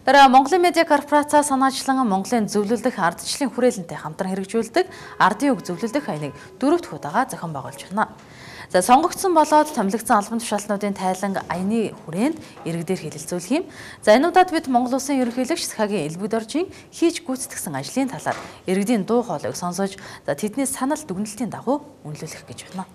Дараа Монголын медиа корпорац санаачлан Монголын зөвлөлдөх ардчлалын хүрээлэнтэй хамтран хэрэгжүүлдэг ардын үг зөвлөлдөх хаяныг 4 дахь удаага зохион байгуулж байна. За сонгогдсон болоод томилогдсон албан тушаалтнуудын тайлан аяны хүрээнд иргэдээр хэлэлцүүлэх юм. За энэ удаад бид Монгол Улсын ерөнхийлөгч Сахагийн элбэг доржийн хийж гүйцэтгсэн ажлын талаар иргэдийн дуу хоолойг сонсож тэдний санал дүгнэлтийн дагуу үнэлүүлэх гэж байна.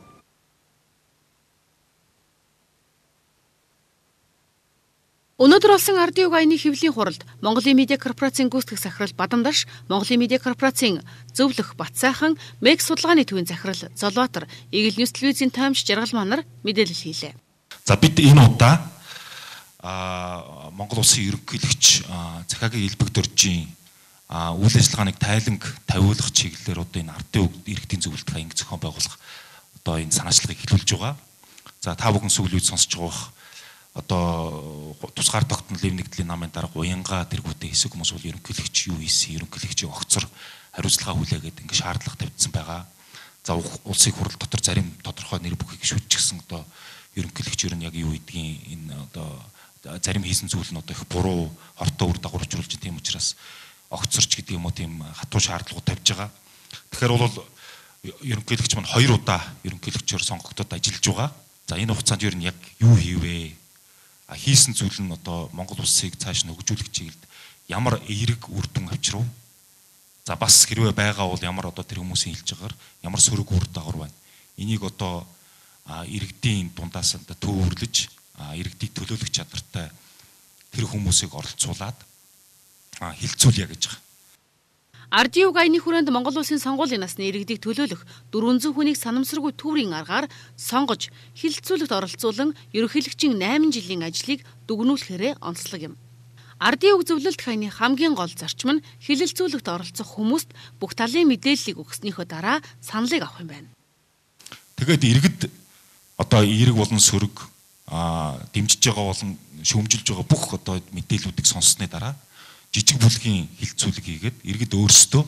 Өнөөдөр болсон ардын үг аяны хэвлэлийн хуралд Монголын медиа корпорацийн гүйцэтгэх захирал Бадамдаш, Монголын медиа корпорацийн зөвлөх Батсайхан, МЕГ судалгааны төвийн захирал Золбаатар, Eagle News телевизийн таймч Жаргал манар мэдээлэл хийлээ. За бид энэ удаа Монгол Улсын ерөнхийлөгч Сахагийн элбэг доржийн үйл ажиллагааныг тайланг тавиулах чиглэлээр одоо энэ ардын үг иргэдийн зөвлөлт хаянг зохион байгуулах одоо энэ санаачлагыг эхлүүлж байгаа. За та бүхэн сүүлийн үед сонсож байгаа одоо тусгаар тогтнолын нэгдлийн намын дарга уянга тэргүүтээ хэсэг хүмүүс бол ерөнхийлөгч юу хийсэн, ерөнхийлөгчийн огцор хариуцлага хүлээгээд ингээ шаардлага тавьдсан байгаа. За улсын хурал дотор зарим тодорхой нэр бүхийг шүтчихсэн одоо ерөнхийлөгч ер нь яг юу гэдгийг энэ одоо зарим хийсэн зүйл нь одоо их буруу хортой үр дагавар учруулж байгаа. Тийм учраас огцорч гэдэг юм уу тийм хатуу шаардлагууд тавьж байгаа. Тэгэхээр бол ерөнхийлөгч маань 2 удаа ерөнхийлөгчөөр сонгогдоод ажиллаж байгаа. За энэ хугацаанд ер нь яг юу хийвэ? Хийсэн зүйл нь одоо Монгол улсыг цааш нь хөгжүүлэх чиглэлд ямар эерэг үр дүн авчирв. За бас хэрвээ байгаа бол ямар одоо тэр хүмүүсийн хэлж байгаагаар ямар сөрөг үр дагавар байна. Энийг одоо иргэдийн дундаас төвөрлөж иргэдийг төлөөлөх чадвартай тэр хүмүүсийг оролцуулаад хилцүүлъя гэж байгаа. Ардын үг аяны хүрээнд Монгол Улсын сонгуулийн насны иргэдийг төлөөлөх 400 хүнийг санамсаргүй төврийн аргаар сонгож хилцүүлэгт оролцуулан ерөнхийлөгчийн 8 жилийн ажлыг дүгнүүлэхээрээ онцлог юм. Ардын үг зөвлөлт хаяны хамгийн гол зарчим нь хилцүүлэгт оролцох хүмүүст бүх талын мэдээллийг өгснөөхөө дараа саналыг авах юм байна. Тэгээд иргэд одоо эерэг болон сөрөг дэмжиж байгаа болон шүүмжилж байгаа бүх одоо мэдээллүүдийг сонссны дараа жижиг бүлгийн хилцүүлэг хийгээд иргэд өөрсдөө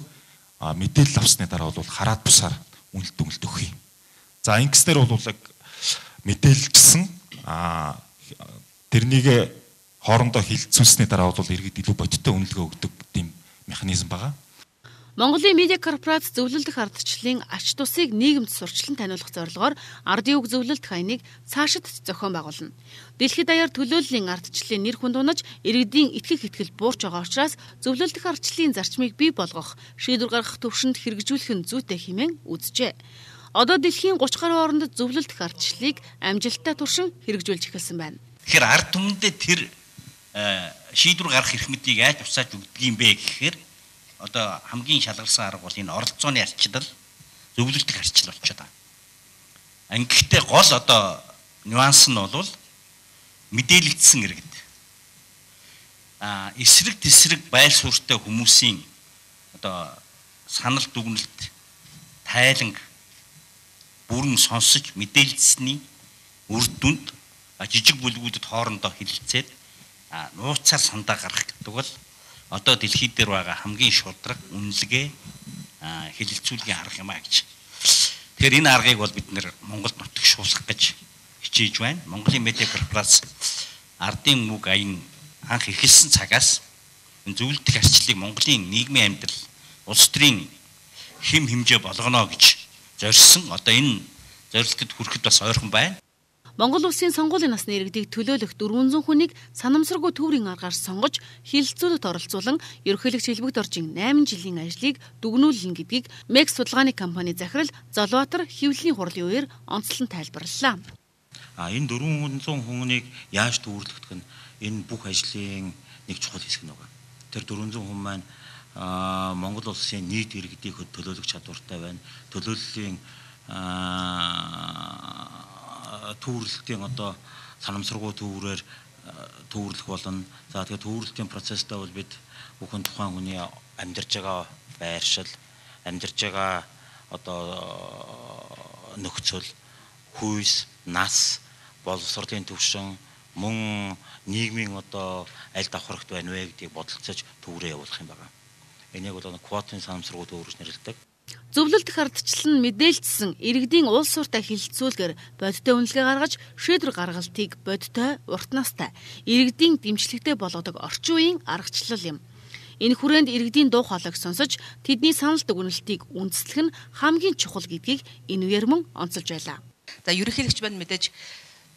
мэдээлэл авсны дараа бол хараад бусаар үнэлт дүгнэлт өгөх юм. За ингэснээр бол яг мэдээлэлжсэн тэрнийг хоорондоо хилцүүлсний дараа бол иргэд илүү бодиттой үнэлгээ өгдөг тийм механизм байгаа. Монголын медиа корпорац зөвлөлдөх ардчлалын ач тусыг нийгэмд сурчлан таниулах зорилгоор ардын үг зөвлөлт хаяныг цаашид зохион байгуулна. Дэлхийд даяар төлөөллийн ардчлалын нэр хүнд унаж иргэдийн итгэх итгэл буурч байгаа учраас зөвлөлдөх ардчлалын зарчмыг бий болгох, шийдвэр гаргах төвшөнд хэрэгжүүлэх нь зүйтэй хэмээн үзжээ. Одоо дэлхийн 30 гаруй орнд зөвлөлдөх ардчлалыг амжилттай туршин хэрэгжүүлж эхэлсэн байна. Тэгэхээр ард түмэндээ тэр шийдвэр гаргах эрх мэдийг яаж тусааж өгдөг юм бэ гэхээр одоо хамгийн шалгарсан арга бол энэ оролцооны арчлал, зөвлөлдөх арчлал болчиход байна. Ангийнхтэй гол одоо нюанс нь бол мэдээлэгдсэн иргэд. Эсрэг тесрэг байр суурьтай хүмүүсийн одоо санал дүгнэлт тайланг бүрэн сонсож мэдээлэлсний үр дүнд жижиг бүлгүүдэд хоорондоо хэлэлцээд нууцаар сандаа гаргах гэдэг бол одоо дэлхийд дээр байгаа хамгийн шудраг үнэлгээ хэлэлцүүлгийн арга юм а гэж. Тэгэхээр энэ аргыг бол бид нэр Монголд нутагшуулах гэж хичээж байна. Монголын медиа корпорац ардын үг аян анх эхэлсэн цагаас энэ зөвлөлдөх арчлалыг Монголын нийгмийн амьдрал, улс төрийн хэм хэмжээ болгоно гэж зорьсон. Одоо энэ зорилтод хүрэхэд бас ойрхон байна. Монгол Улсын сонгуулийн насны иргэдийг төлөөлөх 400 хүнийг санамсаргүй төврийн аргаар сонгож хилцүүлэлт оролцуулан ерөнхийлөгч элбэг доржийн 8 жилийн ажлыг дүгнүүлнэ гэдгийг МЕГ судалгааны компани захирал Золбаатар хэвлэлийн хурлын үеэр онцлон тайлбарллаа. Энэ 400 хүнийг яаж төвөрлөгдөх нь энэ бүх ажлын нэг чухал хэсэг нэг. Тэр 400 хүн маань Монгол Улсын нийт иргэдийг төлөөлөх чадвартай байна. Төлөөллийн төвөрлөлтийн одоо санамсаргүй төврөөр төвөрлөх болно. За тэгээд төвөрлөлтийн процесстай бол бид бүхэн тухайн хүний амьдарч байгаа байршил, амьдарч байгаа одоо нөхцөл, хүйс, нас, боловсролын төвшин, мөн нийгмийн одоо аль давхарагт байна вэ гэдгийг бодолцож төврөө явуулах юм байна. Энийг бол квотын санамсаргүй төвөрөж нэрлэдэг. Зөвлөлдөх ардчлал нь мэдээлжсэн иргэдийн уул суурьтай хилцүүлгээр бодиттой үнэлгээ гаргаж шийдвэр гаргалтыг бодиттой, урт настай, иргэдийн дэмжлэгтэй болгодог орчин үеийн аргачлал юм. Энэ хүрээнд иргэдийн дуу хоолойг сонсож тэдний санал дүгнэлтийг үндэслэх нь хамгийн чухал гэдгийг энэ үеэр мөн онцолж байлаа. За ерөнхийлөгч маань мэдээж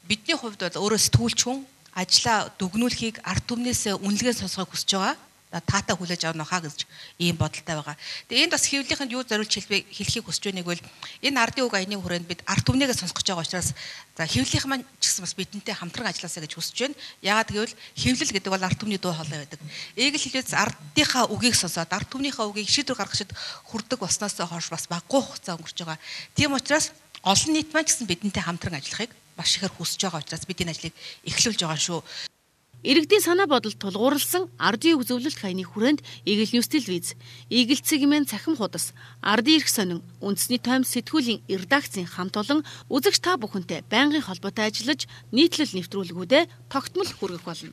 бидний хувьд бол өөрөө сэтгүүлч хүн ажлаа дүгнүүлэхийг ард түмнээс үнэлгээ сонсохыг хүсэж байгаа. Таатаа хүлээж авах нөхаа гэж ийм бодолтой байгаа. Тэгээ энд бас хэвлэлийнхэнд юу зориулж хэлхийг хүсэж байгааг бол энэ ардын үг аяны хүрээнд бид ард түмнийгээ сонсгож байгаа учраас за хэвлэлийнх маань ч гэсэн бас бидэнтэй хамтран ажилласаа гэж хүсэж байна. Яагаад гэвэл хэвлэл гэдэг бол ард түмний дуу хоолой байдаг. Ээг л хэлээд ардынхаа үгийг сонсоод ард түмнийхээ үгийг шийдвэр гаргахад хүрдэг болсноос хойш бас баггүй хугацаа өнгөрч байгаа. Тийм учраас олон нийт маань ч гэсэн бидэнтэй хамтран ажиллахыг маш ихээр хүсэж байгаа учраас бид энэ ажлыг эхлүүлж байгаа шүү. Иргэдийн санаа бодолд тулгуурласан ардын үг зөвлөлт хаяны хүрээнд Игэл Ньюс телевиз, Игэл цэгмэн цахим худас, ардын эрх сонин, үндэсний тоймс сэтгүүлийн редакцийн хамт олон үзэгч та бүхэнтэй байнгын холбоотой ажиллаж нийтлэл нэвтрүүлгүүдэд тогтмол хүргэх болно.